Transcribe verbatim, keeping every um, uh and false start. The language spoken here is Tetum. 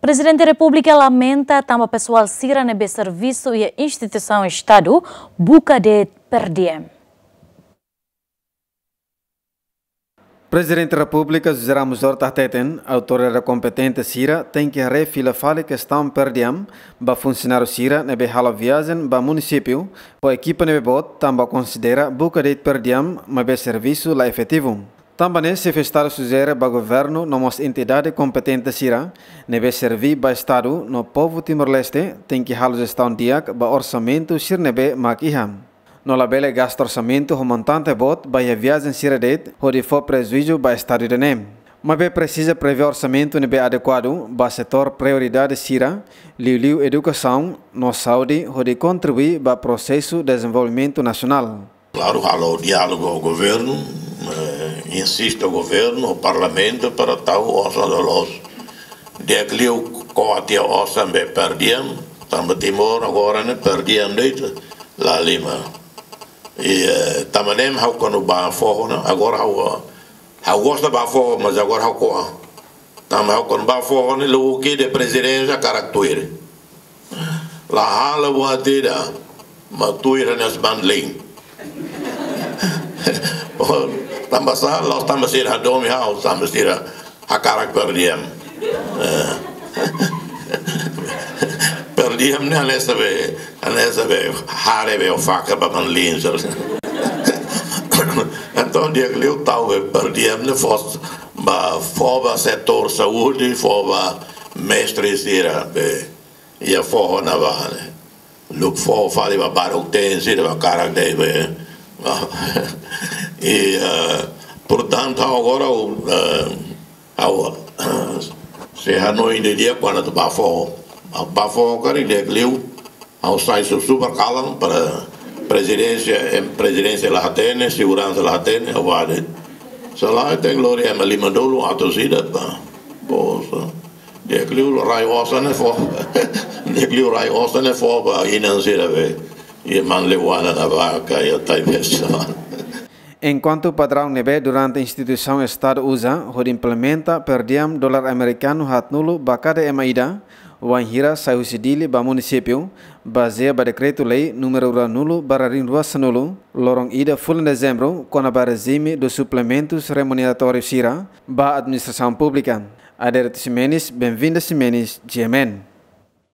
Prezidente Repúblika lamenta tanba pesoál sira ne'ebé servisu iha instituisaun Estadu buka de'it per diem. Prezidente Repúblika José Ramos Horta hateten, autoridade kompetente sira tenke haree fila fali kestaun per diem ba funsionáriu sira ne'ebé halo viajen ba munisípiu ho ekipa ne'ebé boot, tanba konsidera buka de'it per diem maibé servisu la efetivu. Tanba ne'e, Xefe Estadu sujere ba governu no mós entidade kompetente sira ne'ebé serví ba Estadu no povu Timor-Leste tenke halo jestaun di'ak ba orsamentu sira ne'ebé mak iha. No labele gasta orsamentu ho montante boot ba iha viajen sira de'it hodi fó prejuízu ba Estadu ida-ne'e. Maibé presiza prevee orsamentu ne'ebé adekuadu ba setór prioridade sira, liuliu edukasaun no saúde, hodi kontribui ba prosesu dezenvolvimentu nasionál. Klaru, halo diálogu ho governu, eh, insiste ho governu, ho parlamentu para tau osan loloos. Di'ak liu ko'a tiha osan be per diem, tanba Timor agora ne'e per diem de'it la halimar. I, eh, tanba ne'e ha'u kuandu bá foho ne'e, agora ha'u, ha'u gosta bá foho, mas agora ha'u ko'a. Tanba ha'u kuandu bá foho ne'e, la'ós ke de prezidénsia hakarak tuir. La halo buat ida, mak tuir hanesan manlin. Oh, tanba sá, la'ós tanba sira hadomi ha'u, tanba sira hakarak per diem. Eh. Per diem ne'e hanesan be, hanesan be haree be o faka ba manlin, sabe? Entaun, di'ak liu tau be per diem ne'e fó ba, fó ba setór saúde, fó ba mestre sira be iha foho ne'ebá ne'e. Luk fó fali ba baruk-teen sira ba hakarak de'it be. I, eh, portantu, agora o, eh, ha'u, eh, sei hanoin didi'ak kuandu atu bá foho. Bá foho karik di'ak liu ha'u sai susubra kalan para prezidénsia, em, prezidénsia la hatene, seguransa la hatene, ha'u bá de'it. Se lae tenke lori ema lima-nulu atus ida bá. Poxa. Di'ak liu rai osan ne'e fó. Di'ak liu rai osan ne'e fó ba inan sira be. I manleuana na baka, i tai besa. Enkuantu padraun ne'ebé durante instituisaun Estadu uza hodi implementa per diem dolar amerikanu haatnulu ba kada ema ida, wainhira sai husi Dili ba munisípiu, bazeia ba dekretu-lei númeru ruanulu barra rihun rua sanulu, loron ida fulan Dezembru, kona-ba rejime dos suplementus remuneratóriu sira ba administrasaun públika. Adérito Ximenes, Benvinda Ximenes, G M N.